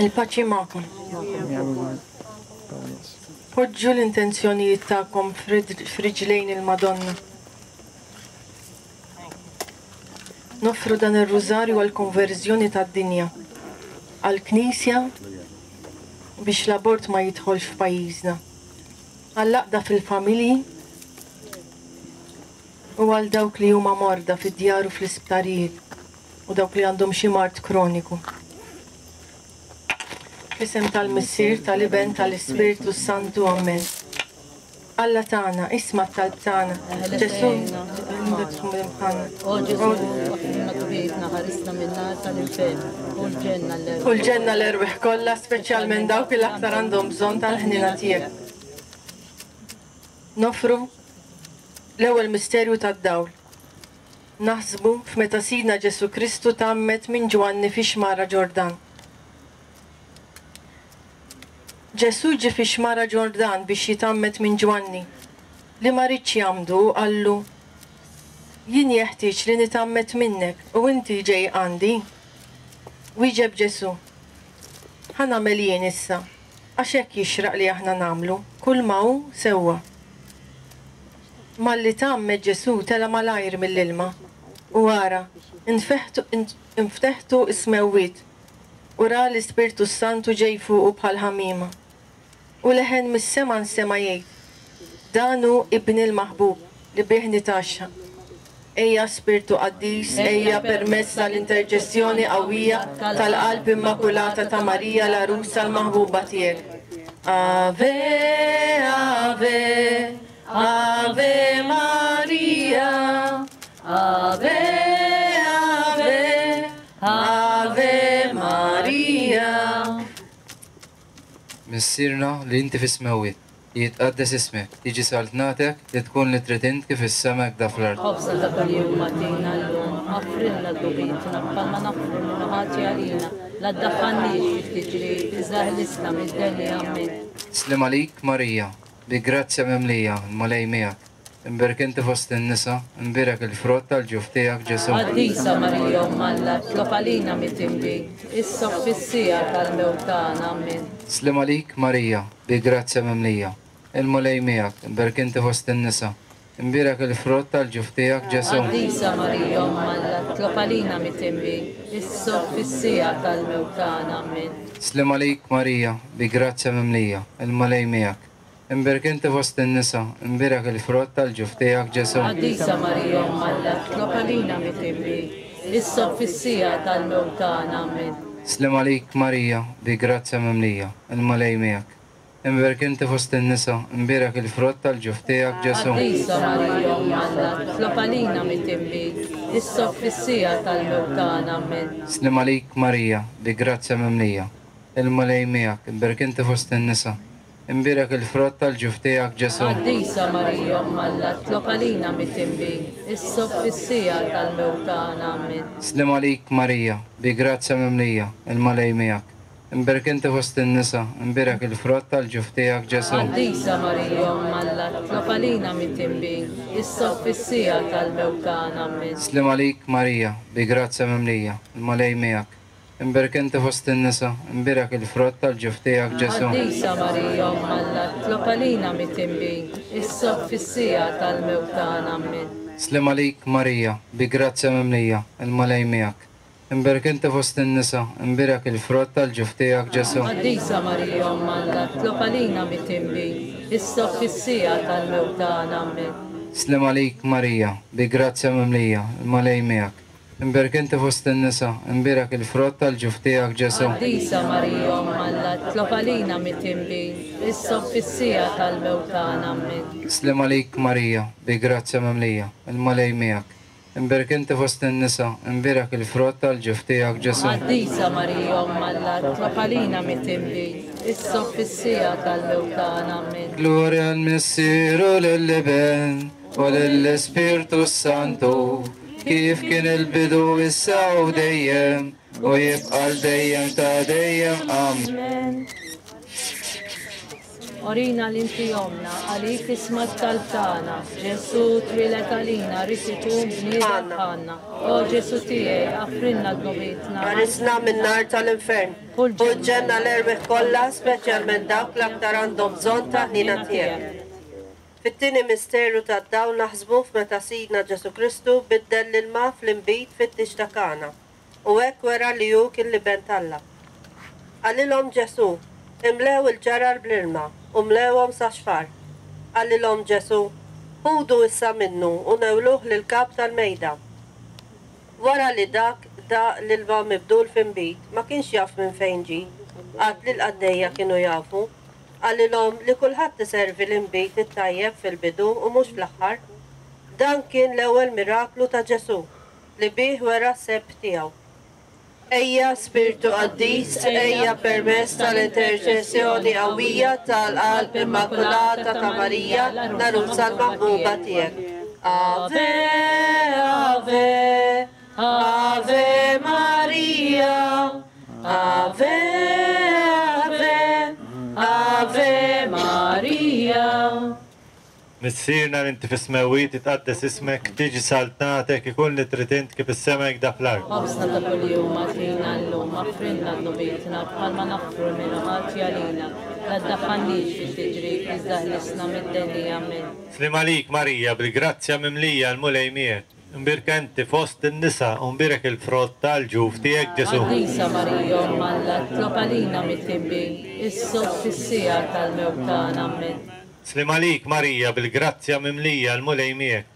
Il-paċi magħkom. Poġġu l-intenzjonijiet tagħkom f'riġlejn il-Madonna. Noffru dan ir-rużarju għall-konverżjoni tad-dinja, għall-Knisja biex l-abort ma jidħolx f'pajjiżna, għall-għaqda fil-familji u għal dawk li huma morda fid-djar u fl-isptarijiet u dawk li għandhom xi mard kroniku. F'isem tal-Missier, tal-Iben, tal-Ispirtu s-Santu. Ammen. Alla tagħna, isma' t-talb tagħna. Ġesù, O Ġesù, aħfrilna dnubietna, ħarisna min-nar tal-infern, u l-ġenna l-erwieħ. U l-ġenna l-erwieħ kollha, speċjalment dawk li l-aktar għandhom bżonn tal-ħniena tiegħek. Noffru l-ewwel misterju tad-dawl. Naħsbu f'meta Sidna Ġesù Kristu tgħammed minn Ġwanni fix-xmara Ġordan. Ġesù ġie fix-xmara Ġordan biex jitgħammed minn Ġwanni, li ma riedx jgħammdu u qallu, Jien jeħtieġ li nitgħammed minnek u inti ġej għandi? Wieġeb Ġesù, Ħa nagħmel jien issa, għax hekk jixraq li aħna nagħmlu kulma hu sewwa. Malli tgħammed Ġesù tela' malajr mill-ilma, u ara, infteħtu s-smewwiet, u ra l-Ispirtu s-Santu ġej fuqu bħal ħamiema. U leħen mis-sema nsema' jgħid, Dan hu Ibni l-maħbub, li bih nitgħaxxaq. Ejja, Spirtu Qaddis, ejja permezz tal-interċessjoni qawwija tal-Qalb Immakulata ta' Marija l-Għarusa l-maħbuba tiegħek. Ave, Ave, Ave Maria, Ave, Ave, Ave Maria. Missierna li inti fis-smewwiet, li jitqaddes ismek, tiġi saltnatek, li tkun li trid int kif fis-sema hekk da fl-art. Ħobżna ta' kuljum agħtina llum, aħfrilna dnubietna bħalma naħfru lil min ħati għalina, la ddaħħalniex fit-tiġrib, iżda eħlisna mid-delli. Ammen. Sliem għalik Marija, bi grazzja mimlija, l-Mulej miegħek. Imbierek inti fost in-nisa, imbierek il-frott tal-ġuf tiegħek Ġesù. Qaddisa Marija Omm Alla, itlob għalina midinbin, issa u fis-siegħa tal-mewt tagħna. Ammen. Sliem għalik Marija, bi grazzja mimlija, il-Mulej miegħek, imbierek inti fost in-nisa, imbierek il-frott tal-ġuf tiegħek Ġesù. Qaddisa Marija Omm Alla, itlob għalina midinbin, issa u fis-siegħa tal-mewt tagħna. Ammen. Sliem għalik Marija, bi grazzja mimlija, il-Mulej miegħek, Imbierek inti fost in-nisa, imbierek il-frott tal-ġuf tiegħek, Ġesù. Qaddisa Marija Omm Alla, itlob għalina midinbin, issa u fis-siegħa tal-mewt tagħna. Ammen. Sliem għalik Marija, bi grazzja mimlija, il-Mulej miegħek. Imbierek inti fost in-nisa, imbierek il-frott tal-ġuf tiegħek, Ġesù. Qaddisa Marija Omm Alla, itlob għalina midinbin, issa u fis-siegħa tal-mewt tagħna. Ammen. Sliem għalik Marija, bi grazzja mimlija, il-Mulej miegħek, imbierek inti fost in-nisa, Imbierek il-frott tal-ġuf tiegħek, Ġesù. Qaddisa Marija, Omm Alla, itlob għalina midinbin, issa u fis-siegħa tal-mewt tagħna. Ammen. Sliem għalik, Marija, bi grazzja mimlija, il-Mulej miegħek. Imbierek inti fost in-nisa, imbierek il-frott tal-ġuf tiegħek, Ġesù. Qaddisa Marija, Omm Alla, itlob għalina midinbin, issa u fis-siegħa tal-mewt tagħna. Ammen. Sliem għalik, Marija, bi grazzja mimlija, il-Mulej miegħek. Imbierek inti fost in-nisa, imbierek il-frott tal-ġuf tiegħek, Ġesù. Qaddisa Marija, Omm Alla, itlob għalina midinbin, issa u fis-siegħa tal-mewt tagħna. Ammen. Sliem għalik, Marija, bi grazzja mimlija, il-Mulej miegħek. Imbierek inti fost in-nisa, imbierek il-frott tal-ġuf tiegħek, Ġesù. Qaddisa Marija, Omm Alla, itlob għalina midinbin, issa u fis-siegħa tal-mewt tagħna. Ammen. Sliem għalik, Marija, bi grazzja mimlija, il-Mulej miegħek. Imbierek inti fost in-nisa, imbierek il-frott tal-ġuf tiegħek, Ġesù. Qaddisa Marija, Omm Alla, itlob għalina midinbin, issa u fis-siegħa tal-mewt tagħna. Ammen. Sliem għalik, Marija, bi grazzja mimlija, il-Mulej miegħek. Imbierek inti fost in-nisa, imbierek il-frott tal-ġuf tiegħek, Ġesù. Qaddisa Marija, Omm Alla, itlob għalina midinbin, issa u fis-siegħa tal-mewt tagħna. Ammen. Glorja l-Missier u lill-Iben u lill-Ispirtu s-Santu, kif kien il-bidu issa u dejjem u jibqa' l dejjem ta' dejjem. Amen. Orina l-inti omna, għalik isma t-talb tagħna. Ġesù twieled għalina, ried ikun bniedem bħalna. O Ġesù tiegħi, aħfrilna dnubietna. Ħarisna min-nar tal-infern. U l-ġenna l-erwieħ kollha, speċjalment dawk l-aktar għandhom bżonn ta' ħniena tiegħek. Fit-tieni misteru tad-dawl naħsbu f'meta Sidna Ġesù Kristu biddel l-ilma fl-inbid fit-tieġ ta' Kana, u hekk wera li hu kien l-Iben t'Alla. Qalilhom Ġesù, Imlew il-ġarar bl-ilma, u mlewhom sax-xfar. Qalilhom Ġesù, Ħudu issa minnu u newluh lill-kap tal-mejda. Wara li dak daq l-ilma mibdul f'inbid, ma kienx jaf minn fejn ġie, għad li l-qaddejja kienu jafu. Qalilhom li kulħadd iservi l-inbid it-tajjeb fil-bidu u mhux fl-aħħar. Dan kien l-ewwel miraklu ta' Ġesù, li bih wera s-sebħ tiegħu. Ejja, Spirtu Qaddis, ejja permezz tal-interċessjoni qawwija tal-Qalb Immakulata ta' Marija, l-Għarusa l-Maħbuba tiegħek. Ave, Ave, Ave Maria, Ave, Ave, Ave Maria. Missierna li inti fis-smewwiet, titqaddes ismek, tiġi saltnatek, ikun li trid int kif is-sema hekk fl-art. Ħobżna ta' kuljum agħtina llum, aħfrilna dnubietna bħalma naħfru lil min hu ħati għalina. La ddaħħalniex fit-tiġrib, iżda ħlisna mid-deni. Amen. Sliem għalik Marija, bil-grazzja mimlija l-Mulej miegħek. Imbierka inti fost in-nisa u mbierek il-frott tal-ġuf tiegħek Ġesù. Qaddisa Marija, Omm Alla, itlob għalina midinbin, issa u fis-siegħa tal-mewt tagħna. Amen. Sliem għalik Marija, bil-grazzja mimlija l-Mulej miegħek.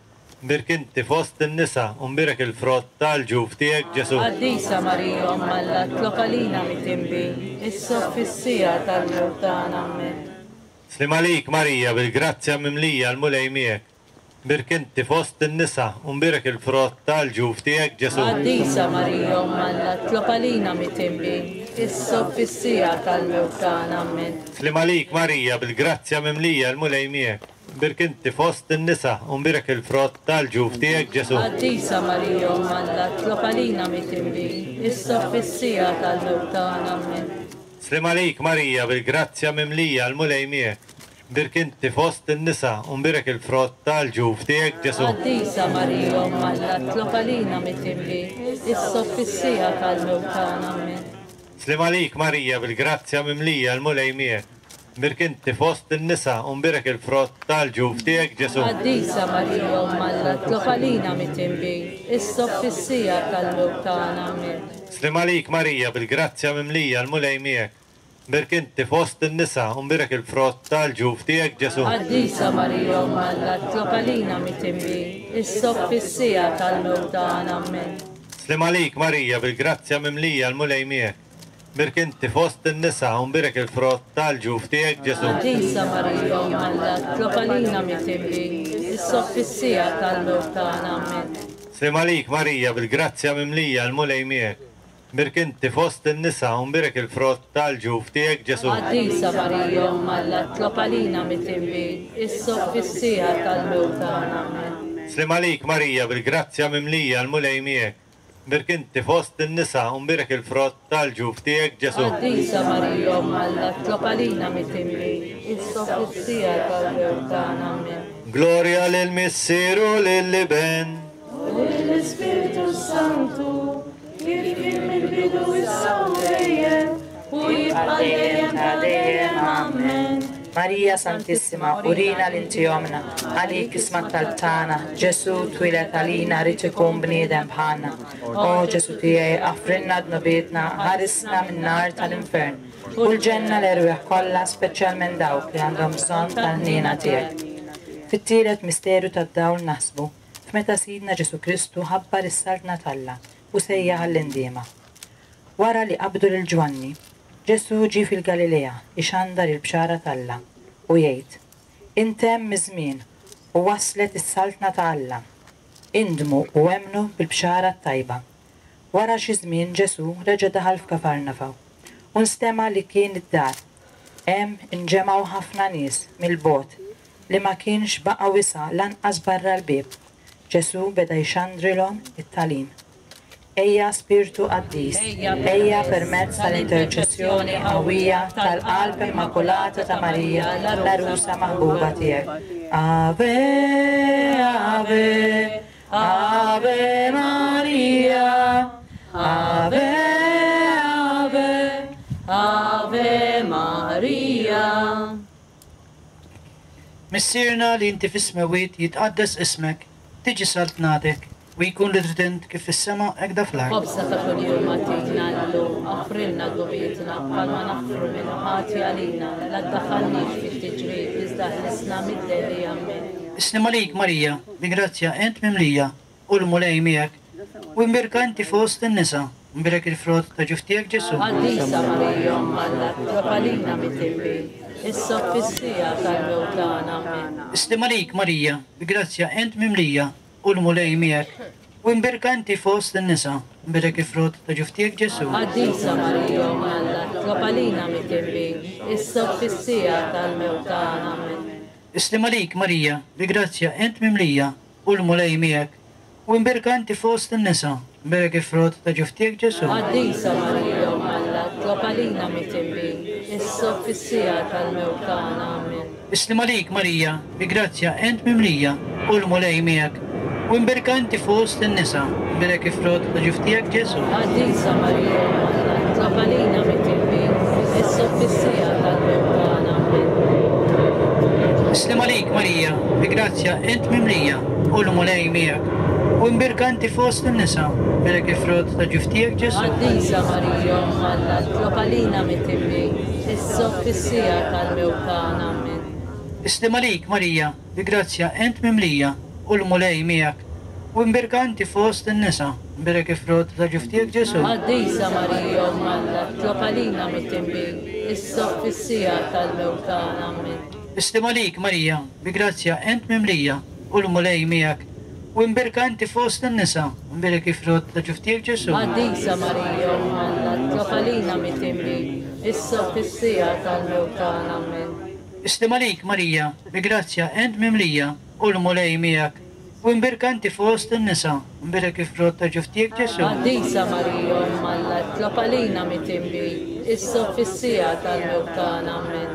Imbierka inti fost in-nisa u mbierek il-frott tal-ġuf tiegħek Ġesù. Qaddisa Marija, Omm Alla, itlob għalina midinbin, issa u fis-siegħa tal-mewt tagħna. Amen. Sliem għalik Marija, bil-grazzja mimlija l-Mulej miegħek. Imbierka inti fost in-nisa u mbierek il-frott tal-ġuf tiegħek Ġesù. Qaddisa Marija, Omm Alla, itlob għalina midinbin, issa u fis-siegħa tal-mewt tagħna. Amen. Sliem għalik Marija, bil-grazzja mimlija l-Mulej miegħek. Imbierka inti fost in-nisa u mbierek il-frott tal-ġuf tiegħek Ġesù. Qaddisa Marija, Omm Alla, itlob għalina midinbin, issa u fis-siegħa tal-mewt tagħna. Amen. Sliem għalik Marija, bil-grazzja mimlija l-Mulej miegħek. Imbierka inti fost in-nisa u mbierek il-frott tal-ġuf tiegħek Ġesù. Qaddisa Marija, Omm Alla, itlob għalina midinbin, issa u fis-siegħa tal-mewt tagħna. Amen. Sliem għalik Marija, bil-grazzja mimlija l-Mulej miegħek. Imbierka inti fost in-nisa u mbierek il-frott tal-ġuf tiegħek Ġesù. Qaddisa Marija, Omm Alla, itlob għalina midinbin, issa u fis-siegħa tal-mewt tagħna. Amen. Sliem għalik Marija, bil-grazzja mimlija l-Mulej miegħek. Imbierka inti fost in-nisa u mbierek il-frott tal-ġuf tiegħek Ġesù. Qaddisa Marija, Omm Alla, itlob għalina midinbin, issa u fis-siegħa tal-mewt tagħna. Amen. Sliem għalik Marija, bil-grazzja mimlija l-Mulej miegħek. Imbierka inti fost in-nisa u mbierek il-frott tal-ġuf tiegħek Ġesù. Qaddisa Marija, Omm Alla, itlob għalina midinbin, issa u fis-siegħa tal-mewt tagħna. Amen. Sliem għalik Marija, bil-grazzja mimlija l-Mulej miegħek. Mbierek inti fost in-nisa u mbierek il-frott tal-ġuf tiegħek Ġesù. Qaddisa Marija Omm Alla, itlob għalina midinbin, issa u fis-siegħa tal-mewt tagħna. Ammen. Sliem għalik Marija bil-grazzja mimlija l-Mulej miegħek. Mbierek inti fost in-nisa u mbierek il-frott tal-ġuf tiegħek Ġesù. Qaddisa Marija Omm Alla, itlob għalina midinbin, issa u fis-siegħa tal-mewt tagħna. Ammen. Glorja lill-Missier u lill-Iben. U lill-Ispirtu s-Santu, kif kien mill-bidu issa u dejjem, u jibqa' dejjem ta' dejjem. Ammen. Marija Santissima, urina li inti ommna, għalik isma' t-talb tagħna, Ġesù twieled għalina ried ikun bniedem bħalna. O Ġesù tiegħi, aħfrilna dnubietna, ħarisna min-nar tal-infern, u l-ġenna l-erwieħ kollha, speċjalment dawk li għandhom bżonn tal-ħniena tiegħek. Fit-tielet misteru tad-dawl naħsbu f'meta Sidna Ġesù Kristu ħabbar is-Saltna t'Alla u sejjaħ għall-indiema. Wara li qabdu lil Ġwanni, Ġesù ġie fil-Galilea jxandar il-bxara t'Alla u jgħid, Intemm iż-żmien u waslet is-Saltna ta' Alla. Indmu u emmnu bil-bxara t-tajba. Wara xi żmien Ġesù reġa' daħal f'Kafarnafaw u nstema' li kien id-dar. Hemm inġemgħu ħafna nies mill-bogħod li ma kienx baqa' wisa' lanqas barra l-bieb. Ġesù beda jxandrilhom it-tagħlim. Ejja Spirtu Qaddis, ejja permezz tal-interċessjoni qawwija tal-Qalb Immakulata ta' Marija, l-Għarusa maħbuba tiegħek. Ave, Ave, Ave Maria, Ave, Ave, Ave Maria. Missierna li inti fis-smewwiet jitqaddes ismek, tiġi saltnatek, u jkun li trid int kif fis-sema hekk fl-art. Ħobżna ta' kuljum agħtina llum, aħfrilna dnubietna bħalma naħfru min hu ħati għalina, la ddaħħalniex fit-tiġrib, iżda ħlisna mid-deni. Ammen. Is-sliem għalik Marija, bi grazzja int mimlija, u l-Mulej miegħek, u imbierka inti fost in-nisa, u mbierek il-frott ta' ġuf tiegħek Ġesù. Qaddisa Marija Omm Alla, itlob għalina midinbin, issa u fis-siegħa tal-mewt tagħna. Ammen. Is-sliem għalik Marija, bi grazzja int mimlija, u l-Mulej miegħek, u imbierka inti fost in-nisa, u mbierek il-frott ta' ġuf tiegħek Ġesù. Qaddisa Marija Omm Alla, itlob għalina midinbin, issa u fis-siegħa tal-mewt tagħna. Ammen. Is-sliem għalik Marija, bi grazzja int mimlija, u l-Mulej miegħek, u imbierka inti fost in-nisa, mbierek il-frott ta' ġuf tiegħek Ġesù. Qaddisa Marija Omm Alla, itlob għalina midinbin, issa u fis-siegħa tal-mewt tagħna. Ammen. Is-sliem għalik Marija, bi grazzja int mimlija, u l-Mulej miegħek, u imbierka inti fost in-nisa, mbierek il-frott ta' ġuf tiegħek Ġesù. Qaddisa Marija Omm Alla, itlob għalina midinbin, issa u fis-siegħa tal-mewt tagħna. Ammen. Is-sliem għalik Marija, bi grazzja int mimlija, u l-Mulej miegħek, u imbierka inti fost in-nisa, mbierek il-frott ta' ġuf tiegħek Ġesù. Qaddisa Marija Omm Alla, itlob għalina midinbin, issa u fis-siegħa tal-mewt tagħna. Ammen. Is-sliem għalik Marija, bi grazzja int mimlija, u l-Mulej miegħek, u imbierka inti fost in-nisa, mbierek il-frott ta' ġuf tiegħek Ġesù. Qaddisa Marija Omm Alla, itlob għalina midinbin, issa u fis-siegħa tal-mewt tagħna. Ammen. Is-sliem għalik Marija, bi grazzja int mimlija, u l-Mulej miegħek, u imbierka inti fost in-nisa, mbierek il-frott ta' ġuf tiegħek Ġesù. Qaddisa Marija Omm Alla, itlob għalina midinbin, issa u fis-siegħa tal-mewt tagħna. Ammen. Is-sliem għalik Marija, bi grazzja int mimlija, u l-Mulej miegħek, u imbierka inti fost in-nisa, mbierek il-frott ta' ġuf tiegħek Ġesù. Qaddisa Marija Omm Alla, itlob għalina midinbin, issa u fis-siegħa tal-mewt tagħna. Ammen.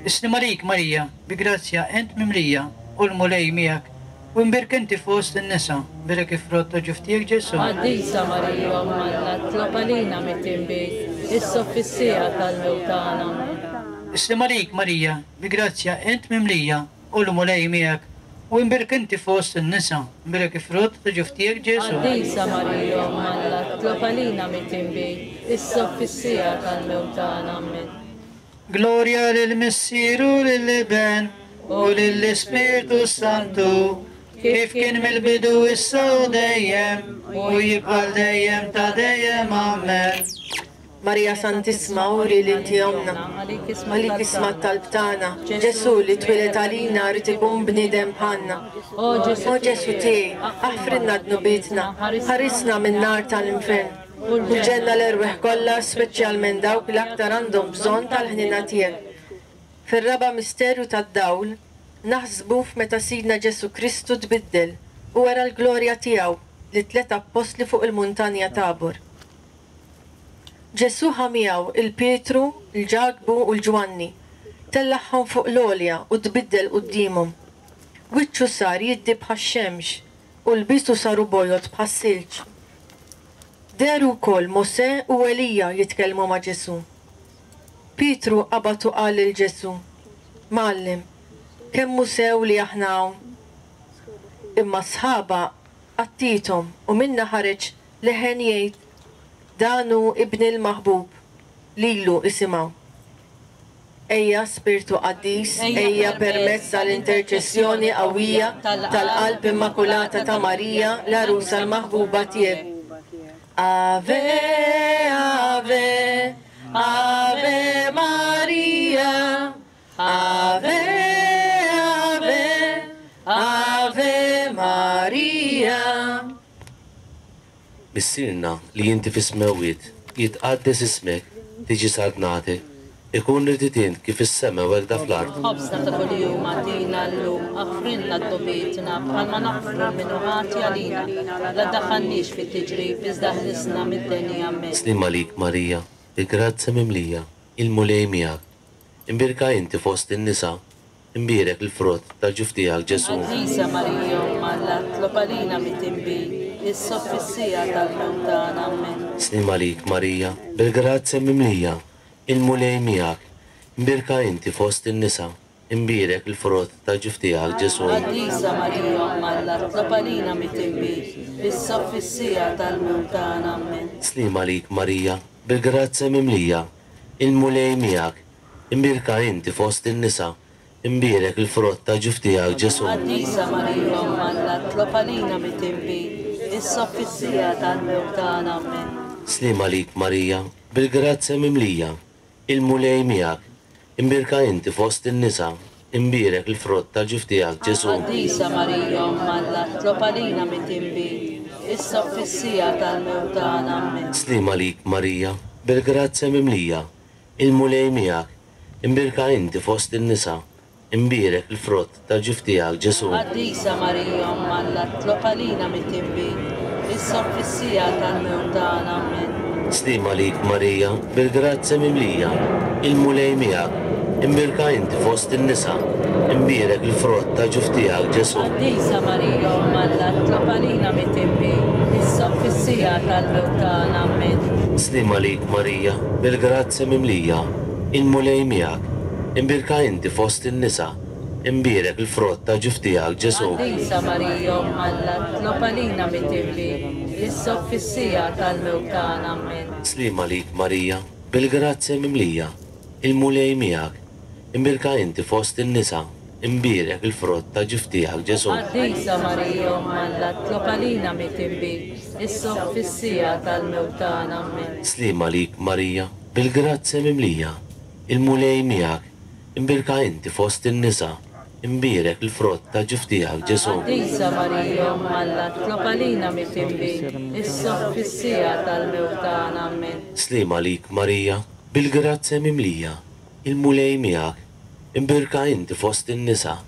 Is-sliem għalik Marija, bi grazzja int mimlija, u l-Mulej miegħek, u imbierka inti fost in-nisa, mbierek il-frott ta' ġuf tiegħek Ġesù. Qaddisa Marija Omm Alla, itlob għalina midinbin, issa u fis-siegħa tal-mewt tagħna. Ammen. Is-sliem għalik Marija, bi grazzja int mimlija, u l-Mulej miegħek, u imbierka inti fost in-nisa, mbierek il-frott ta' ġuf tiegħek Ġesù. Qaddisa Marija Omm Alla, itlob għalina midinbin, issa u fis-siegħa tal-mewt tagħna. Ammen. Glorja lill-Missier u lill-Iben u lill-Ispirtu Santu, kif kien mill-bidu issa u dejjem, u jibqa' dejjem ta' dejjem. Amen. Marija Santissima, uri li inti ommna, għalik isma' t-talb tagħna. Ġesù li twieled għalina ried ikun bniedem bħalna. O O Ġesù tiegħi, aħfrilna dnubietna, ħarisna min-nar tal-infern. U l-ġenna l-erwieħ kollha, speċjalment dawk li aktar għandhom bżonn tal-ħniena tiegħek. Fir-raba' misteru tad-dawl, naħsbu f'meta Sidna Ġesù Kristu tbiddel u wera l-glorja tiegħu lit-tliet appostli fuq il-muntanja Tabor. Ġesù ħa miegħu 'l Pietru, 'l Ġakbu u 'l Ġwanni, tellagħhom fuq l-għolja u tbiddel quddiemhom. Wiċċu sar jiddi bħax-xemx u lbiesu saru bojod bħas-silġ. Dehru wkoll Mosè u Elija jitkellmu ma' Ġesù. Pietru qabad u qal lil Ġesù, Mgħallem, kemm hu sew li aħna hawn! Imma s-sħaba għattiethom u minnha ħareġ leħen jgħid, Dan hu Ibni l-maħbub, lilu isimgħu. Ejja, Spirtu Qaddis, ejja permezz tal-interċessjoni qawwija tal-Qalb Immakulata ta' Marija, l-Għarusa l-maħbuba tiegħek. Ave, Ave, Ave Maria, Ave, Ave, Ave Maria. Missierna li inti fis-smewwiet, jitqaddes ismek, tiġi saltnatek, ikun irid int kif fis-sema u hekk fl-art. Ħobżna ta' kuljum agħtina llum, aħfrilna dnubietna bħalma naħfru lil min hu ħati għalina, la ddaħħalniex fit-tiġrib iżda ħlisna mid-deni. Ammen. Sliem għalik Marija, bi grazzja mimlija, il-Mulej miegħek. Imbierka inti fost in-nisa, Imbierek il-frott tal-ġuf tiegħek, Ġesù. Qaddisa Marija Omm Alla, tlob għalina midinbin, issa u fis-siegħa tal-mewt tagħna. Ammen. Sliem għalik Marija, bil-grazzja mimlija, il-Mulej miegħek. Imbierka inti fost in-nisa, imbierek il-frott tal-ġuf tiegħek, Ġesù. Qaddisa Marija Omm Alla, tlob għalina midinbin, issa u fis-siegħa tal-mewt tagħna. Ammen. Sliem għalik Marija, bil-grazzja mimlija, il-Mulej miegħek. Imbierka inti fost in-nisa, imbierek il-frott tal-ġuf tiegħek, Ġesù. Qaddisa Marija Omm Alla, tlob għalina midinbin, issa u fis-siegħa tal-mewt tagħna. Ammen. Sliem għalik Marija, bil-grazzja mimlija, il-Mulej miegħek. Imbierka inti fost in-nisa, imbierek il-frott tal-ġuf tiegħek, Ġesù. Qaddisa Marija Omm Alla, tlob għalina midinbin, issa u fis-siegħa tal-mewt tagħna. Ammen. Sliem għalik Marija, bil-grazzja mimlija, Il-Mulej miegħek, imbierka inti fost in-nisa, imbierek il-frott tal-ġuf tiegħek, Ġesù. Qaddisa Marija Omm Alla, tlob għalina midinbin, issa u fis-siegħa tal-mewt tagħna. Ammen. Sliem għalik Marija, bil-grazzja mimlija, il-Mulej miegħek, imbierka inti fost in-nisa, imbierek il-frott tal-ġuf tiegħek, Ġesù. Qaddisa Marija Omm Alla, tlob għalina midinbin, issa u fis-siegħa tal-mewt tagħna. Ammen. Sliem għalik Marija, bil-grazzja mimlija, il-Mulej miegħek. Imbierka inti fost in-nisa, imbierek il-frott tal-ġuf tiegħek, Ġesù. Qaddisa Marija Omm Alla, tlob għalina midinbin, issa u fis-siegħa tal-mewt tagħna. Ammen. Sliem għalik Marija, bil-grazzja mimlija, il-Mulej miegħek. Imbierka inti fost in-nisa, imbierek il-frott tal-ġuf tiegħek, Ġesù. Qaddisa Marija Omm Alla, tlob għalina midinbin, issa u fis-siegħa tal-mewt tagħna. Ammen. Sliem għalik Marija, bil-grazzja mimlija, il-Mulej miegħek. Imbierka inti fost in-nisa, imbierek il-frott tal-ġuf tiegħek, Ġesù. Qaddisa Marija Omm Alla, tlob għalina midinbin, issa u fis-siegħa tal-mewt tagħna. Ammen. Sliem għalik Marija, bil-grazzja mimlija, il-Mulej miegħek. Imbierka inti fost in-nisa,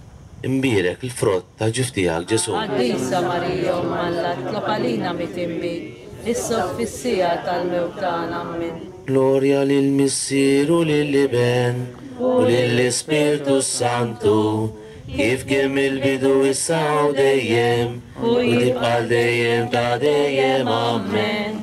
imbierek il-frott tal-ġuf tiegħek, Ġesù. Qaddisa Marija Omm Alla, tlob għalina midinbin, issa u fis-siegħa tal-mewt tagħna. Ammen. Glorja lill-Missier u lill-Iben u lill-Ispirtu s-Santu, kif kien mill-bidu issa u dejjem, u tibqa' għal dejjem ta' dejjem. Ammen.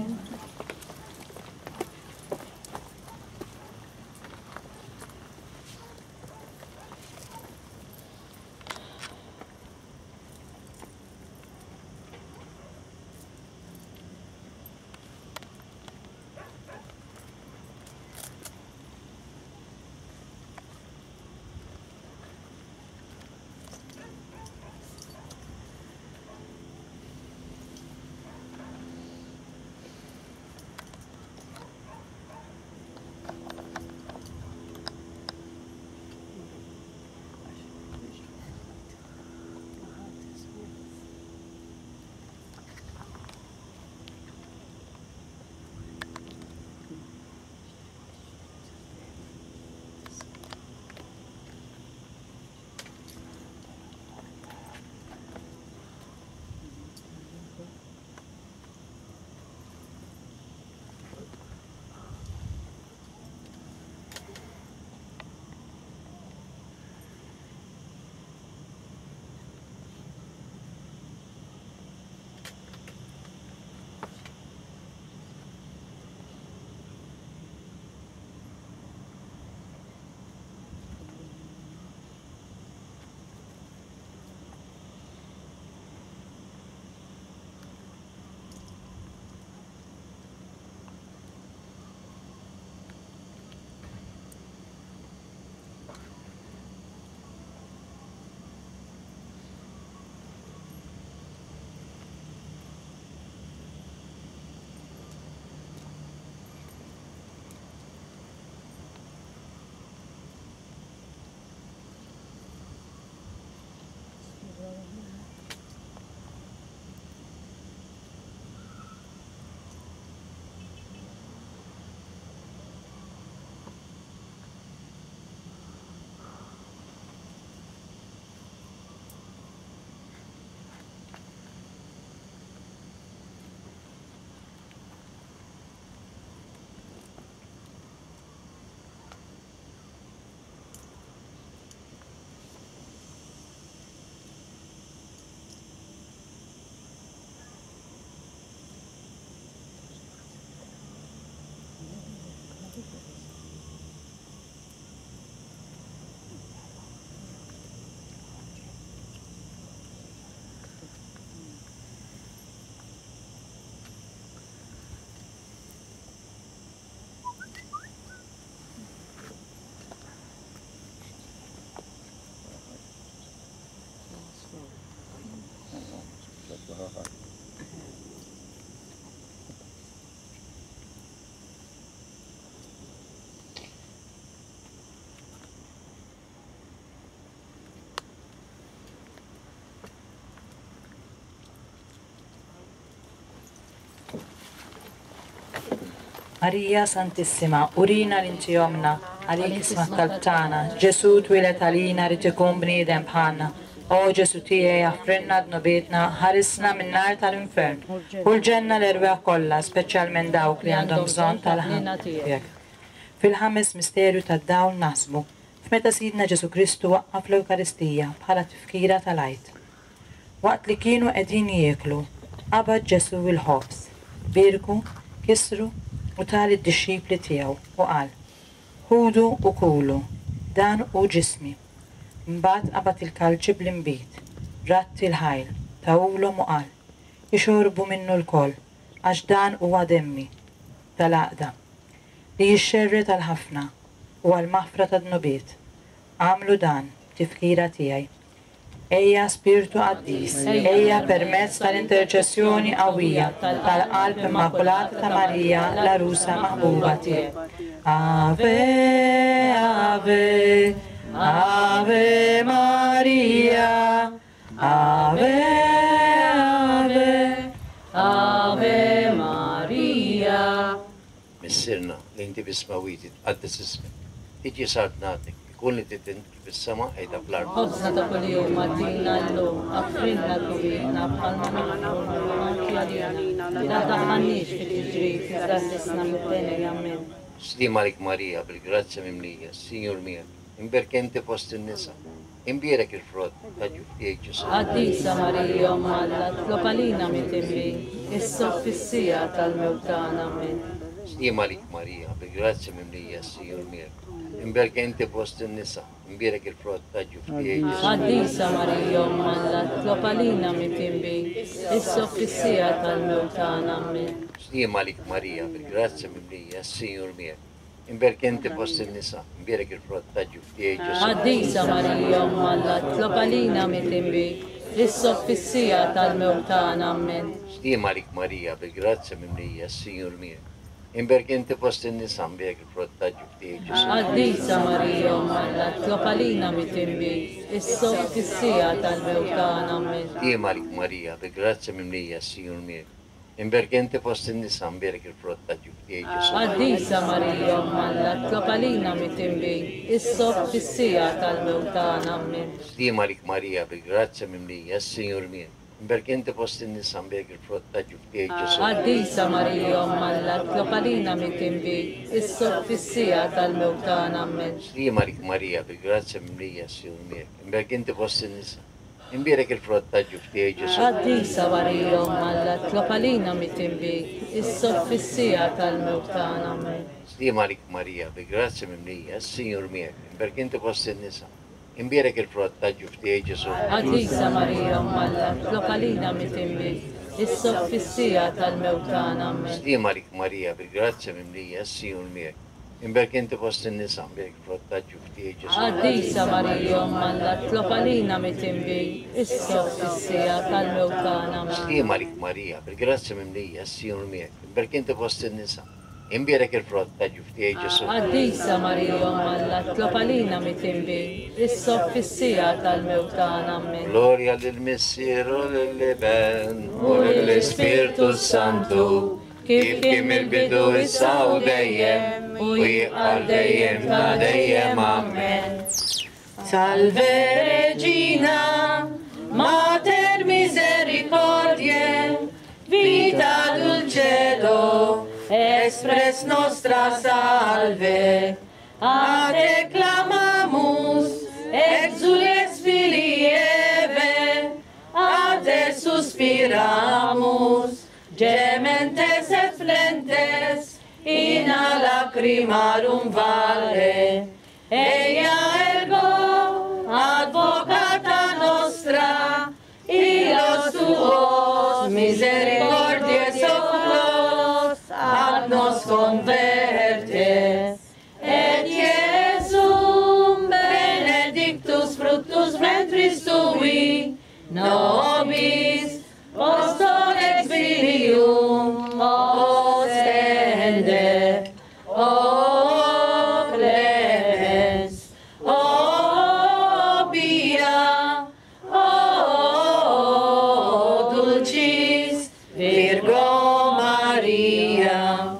Marija Santissima, urina li inti ommna, għalik isma' t-talb tagħna. Ġesù twieled għalina ried ikun bniedem bħalna. O Ġesù tiegħi aħfrilna dnubietna, ħarisna min-nar tal-infern. U l-ġenna l-erwieħ kollha, speċjalment dawk li għandhom bżonn tal-ħniena tiegħek. Fil-ħames misterju tad-dawl naħsbu f'meta Sidna Ġesù Kristu waqqaf l-Ewkaristija bħala tifkira tal-Għid. Waqt li kienu qegħdin jieklu, qabad Ġesù l-ħobż, bierku, kisru u ta lid-dixxipli tiegħu u qal, Ħudu u kulu, dan hu ġismi. Mbagħad qabad il-kalċi bl-inbid, radd il-ħajl, tahulhom u qal, Ixorbu minnu lkoll, għax dan huwa demmi, tal-għaqda, li jixxerred għal ħafna u għall-maħfra tad-dnubiet. Agħmlu dan b'tifkira tiegħi. Ejja Spirtu Qaddis, ejja permezz tal-interċessjoni qawwija tal-Qalb Immakulata ta' Marija l-Għarusa maħbuba tiegħek. Ave, Ave, Ave Maria, Ave, Ave, Ave Maria. Missierna, li inti fis-smewwiet, jitqaddes ismek. Tiġi saltnatek, ikun li trid int kif fis-sema qiegħda fl-art. Ħobżna ta' kuljum agħtina llum, aghfrilna dnubietna bħalma naghfru lil min ħati għalina, la tdaħħalniex fi tiġrib iżda ħlisna mid-deni. Ammen. Sliem għalik Marija, bil-grazzja mimlija, s-Sinjur miegħek, imberka inti fost in-nisa, imbierek il-frott ta' ġuf tiegħek Ġesù. Qaddisa Marija Omm Alla, tlob għalina midinbin, issa u fis-siegħa tal-mewt tagħna. Ammen. Sliem għalik Marija, bil-grazzja mimlija, s-Sinjur miegħek, imberka inti fost in-nisa, imbierek il-frott ta' ġuf tiegħek Ġesù. Qaddisa Marija Omm Alla, tlob għalina midinbin, issa u fis-siegħa tal-mewt tagħna. Ammen. Sliem għalik Marija, bil-grazzja mimlija, s-Sinjur miegħek, Imberk inti fost in-nisa, imbierek il-frott ta' ġuf tiegħek Ġesù. Qaddisa Marija Omm Alla, tlob għalina midinbin, issa u fis-siegħa tal-mewt tagħna. Ammen. Sliem għalik Marija, bil-grazzja mimlija, s-Sinjur miegħek. Imberk inti fost in-nisa, imbierek il-frott ta' ġuf tiegħek Ġesù. Qaddisa Marija Omm Alla, tlob għalina midinbin, issa u fis-siegħa tal-mewt tagħna. Ammen. Sliem għalik Marija, bil-grazzja mimlija, s-Sinjur miegħek. Imberka inti fost in-nisa, mbierek il-frott ta' ġuf tiegħek Ġesù. Qaddisa Marija Omm Alla, tlob għalina midinbin, issa u fis-siegħa tal-mewt tagħna. Ammen. Sliem għalik Marija, bil-grazzja mimlija, s-Sinjur miegħek. Imberka inti fost in-nisa, mbierek il-frott ta' ġuf tiegħek Ġesù. Qaddisa Marija Omm Alla, tlob għalina midinbin, issa u fis-siegħa tal-mewt tagħna. Ammen. Sliem għalik Marija, bil-grazzja mimlija, s-Sinjur miegħek. Imberka inti fost in-nisa, Imbierek il-frott ta' ġuf tiegħek Ġesù. Qaddisa Marija Omm Alla, tlob għalina midinbin, issa u fis-siegħa tal-mewt tagħna. Ammen. Sliem għalik Marija, bi grazzja mimlija, s-Sinjur miegħek, imberk inti fost in-nisa, imbierek il-frott ta' ġuf tiegħek Ġesù. Qaddisa Marija Omm Alla, tlob għalina midinbin, issa u fis-siegħa tal-mewt tagħna. Ammen. Sliem għalik Marija, bi grazzja mimlija, s-Sinjur miegħek, imberk inti fost in-nisa, imbierek il-frott ta' ġuf tiegħek Ġesù. Qaddisa Marija Omm Alla, tlob għalina midinbin, issa u fis-siegħa tal-mewt tagħna. Ammen. Sliem għalik Marija, bil-grazzja mimlija, s-Sinjur miegħek, imberk inti fost in-nisa, imbierek il-frott ta' ġuf tiegħek Ġesù. Qaddisa Marija Omm Alla, tlob għalina midinbin, issa u fis-siegħa tal-mewt tagħna. Ammen. Glorja lill-Missier u lill-Iben u lill-Ispirtu s-Santu, kif kien mill-bidu issa u dejjem, u jibqa' dejjem ta' dejjem. Amen. Salve Regina, Mater misericordiae, vita dulcedo, express nostra salve. A te clamamus, exules filii Eve, a te suspiramus, gementes et flentes, in a lacrimarum valle. Eia ergo, advocata nostra, illos tuos misericordiae oculos ad nos converte. Et Iesum benedictus fructus ventris tui, nobis post hoc exilium ostende. O clemens, o pia, o dulcis Virgo Maria.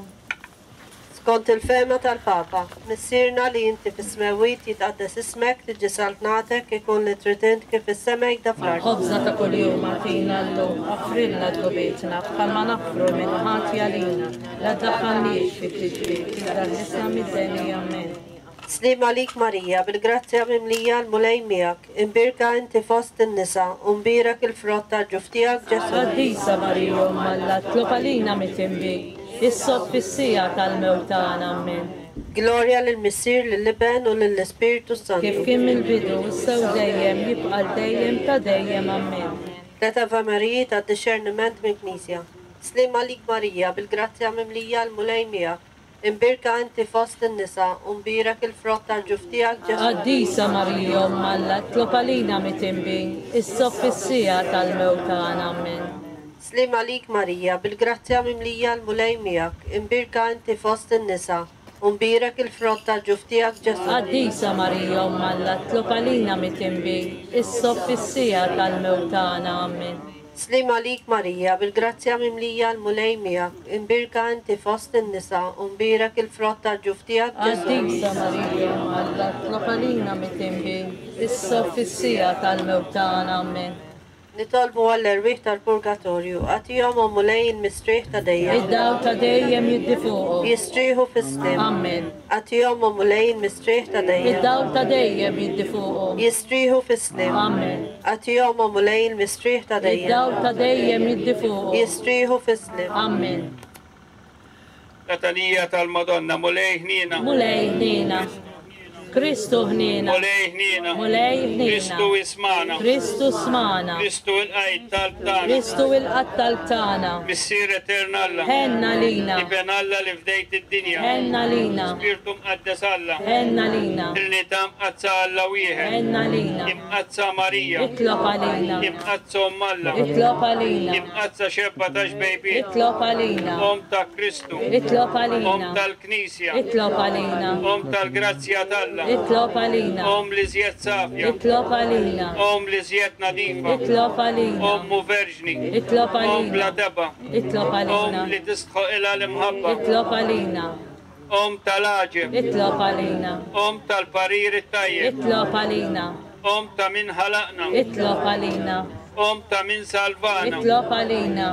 Skont il-fehma tal-Papa, Missierna li inti fis-smewwiet jitqaddes ismek, tiġi saltnatek, ikun li trid int kif fis-sema hekda fl-art. Ħobżna ta' kuljum agħtina llum, aħfrilna dnubietna bħalma naħfru min hu ħati għalina, la ddaħħalniex fi tiġrib, iżda ħlisna mid-deni. Ammen. Sliem għalik Marija, bil-grazzja mimlija l-Mulej miegħek, imbierka inti fost in-nisa, u mbierek il-frott tal-ġuf tiegħek Ġesù. Qaddisa Marija Omm Alla, tlob għalina mitinbin, issa u fis-siegħa tal-mewt tagħna. Ammen. Glorja lill-Missier, lill-Iben u lill-Ispirtu s-Santu. Kif kien mill-bidu, issa u dejjem, jibqa' għal dejjem ta' dejjem. Ammen. Tlet Ave Mariji tad-dixxerniment mill-Knisja. Sliem għalik Marija, bil-grazzja mimlija l-Mulej miegħek, Imbierka inti fost in-nisa, u mbierek il-frott tal-ġuf tiegħek, Ġesù. Qaddisa Marija, Omm Alla, itlob għalina mitinbin, issa u fis-siegħa tal-mewt tagħna. Ammen. Sliem għalik Marija, bil-grazzja mimlija l-Mulej miegħek, imbierka inti fost in-nisa, u mbierek il-frott tal-ġuf tiegħek, Ġesù. Qaddisa Marija, Omm Alla, itlob għalina mitinbin, issa u fis-siegħa tal-mewt tagħna. Ammen. Sliem għalik Marija, bil-grazzja mimlija l-Mulej miegħek, imbierka inti fost in-nisa u mbierek il-frott tal-ġuf tiegħek Ġesù. Qaddisa Marija, Omm Alla, itlob għalina mitinbin, issa u fis-siegħa tal-mewt tagħna. Ammen. Nitolbu għall-erwieħ tal-purgatorju, agħtihom o Mulej il-mistrieħ ta' dejjem. Id-dawl ta' dejjem jiddi fuqhom. Jistrieħu fis-sliem. Ammen. Agħtihom o Mulej il-mistrieħ ta' dejjem. Id-dawl ta' dejjem jiddi fuqhom. Jistrieħu fis-sliem. Ammen. Agħtihom, o Mulej, il-mistrieħ ta' dejjem. Id-dawl ta' dejjem jiddi fuqhom. Jistrieħu fis-sliem. Ammen. Latanija tal-Madonna, Mulej ħniena. Mulej ħniena. Kristu ħniena. Mulej ħniena. Mulej ħniena. Kristu ismagħna. Kristu smagħna. Kristu ilqa' t-talb tagħna. Kristu ilqa' t-talb tagħna. Missier etern Alla. Ħenn għalina. Iben Alla li fdejt id-dinja. Ħenn għalina. Spirtu Mqaddes Alla. Ħenn għalina. Trinità Mqaddsa Alla wieħed. Ħenn għalina. Imqaddsa Marija. Itlob għalina. Imqaddsa Omm Alla. Itlob għalina. Imqaddsa xebba ta' xbejbiet. Itlob għalina. Omm ta' Kristu. Itlob għalina. Omm tal-Knisja. Itlob għalina. Omm tal-grazzja t'Alla. Itlob għalina. Omm l-iżjed safja. Itlob għalina. Omm l-iżjed nadifa. Itlob għalina. Omm u verġni. Itlob Omm għalina. bla tebgħa. Itlob għalina. Omm li tistħoqilha l-imħabba. Itlob għalina. Omm tal-għaġeb. Itlob għalina. Omm tal-parir it-tajjeb. Itlob għalina. Omm ta' min ħalaqna. Itlob għalina. Omm ta' min salvana. Itlob għalina.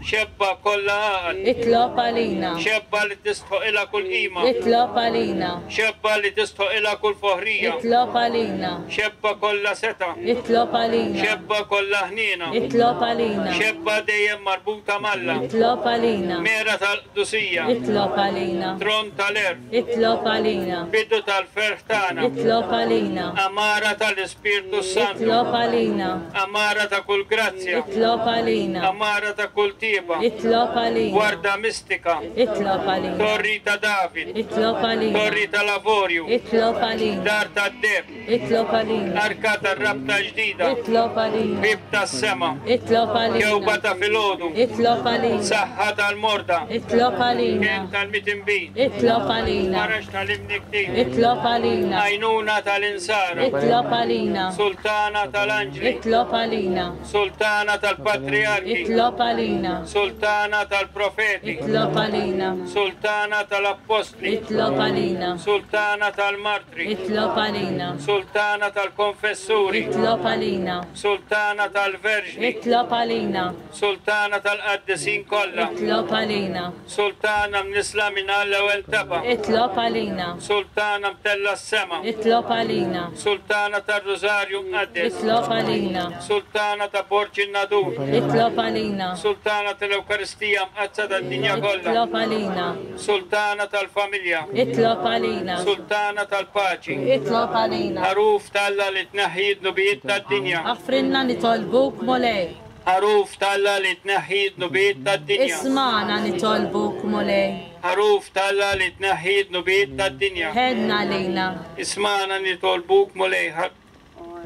Xebba kollha għaqal. Itlob għalina. Xebba li tistħoqilha kull qima. Itlob għalina. Xebba li tistħoqilha kull foħrija. Itlob għalina. Xebba kollha setgħa. Itlob għalina. Xebba kollha ħniena. Itlob għalina. Xebba dejjem marbuta m'Alla. Itlob għalina. Mera tal-qdusija. Itlob għalina. Tron tal-għerf. Itlob għalina. Bidu tal-ferħ tagħna. Itlob għalina. Għamara tal-Ispirtu s-Santu. Itlob għalina. Għamara ta' kull grazzja. Itlob għalina. Għamara ta' kull tjieba. Itlob għalina. Gwarda mistika. Itlob għalina. Torri ta' David. Itlob għalina. Torri tal-avorju. Itlob għalina. Dar tad-deheb. Itlob għalina. Arka tar-rabta ġdida. Itlob għalina. Bieb tas-sema. Itlob għalina. Kewba ta' filgħodu. Itlob għalina. Saħħa tal-morda. Itlob għalina. Kenn tal-mitinbin. Itlob għalina. Faraġ tal-imniktin. Itlob għalina. Għajnuna tal-insara. Itlob għalina. Sultana tal-anġli. Itlob għalina. Sultana tal-patriarki. Itlob għalina. Sultana tal-profeti. Itlob għalina. Sultana tal-appostli. Itlob għalina. Sultana tal-martri. Itlob għalina. Sultana tal-konfessuri. Itlob għalina. Sultana tal-verġni. Itlob għalina. Sultana tal-qaddisin kollha. Itlob għalina. Sultana mnisla minn l-ewwel tebgħa. Itlob għalina. Sultana mtella s-sema. Itlob għalina. Sultana tar-Rużarju mqaddes. Itlob għalina. Sultana ta' Borġ in-Nadur. Itlob għalina. Sultana tal-Ewkaristija mqaddsa tad-dinja kollha. Itlob għalina. Sultana tal-familja. Itlob għalina. Sultana tal-paċi. Itlob għalina. Ħaruf t'Alla li tneħħi d-dnubiet tad-dinja. Aħfrilna nitolbuk Mulej. Ħaruf t'Alla li tneħħi d-dnubiet tad-dinja. Ismagħna nitolbuk Mulej. Ħaruf t'Alla li tneħħi d-dnubiet tad-dinja. Ħenn għalina. Ismagħna nitolbuk Mulej.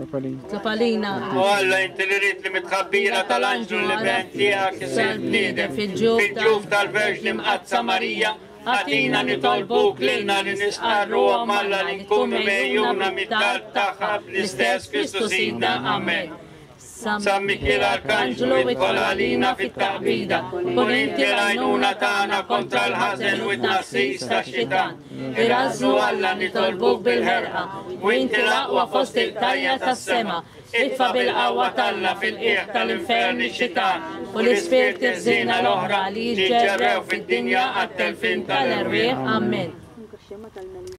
Itlob għalina. O Alla, inti li ridt li mit-tħabbira tal-anġlu l-Iben tiegħek isir bniedem fil-ġuf tal-Verġni Mqaddsa Marija, agħtina nitolbuk lilna li nistqarru Omm Alla li nkunu megħjuna mit-talb tagħha bl-istess Kristu Sidna. Amen. San Mikiel Arkanġlu idħol għalina fit-taqbida, kun inti l-għajnuna tagħna kontra l-ħażen u t-tnassis tax-xitan. Irażżnu Alla nitolbuk bil-ħerqa, u inti l-aqwa fost il-qtajja tas-sema, itfa' bil-qawwa t'Alla fil-qiegħ tal-infern ix-xitan u l-ispirti ħżiena l-oħra li jiġġerrew fid-dinja għat-telfien tal-erwieħ. Ammen.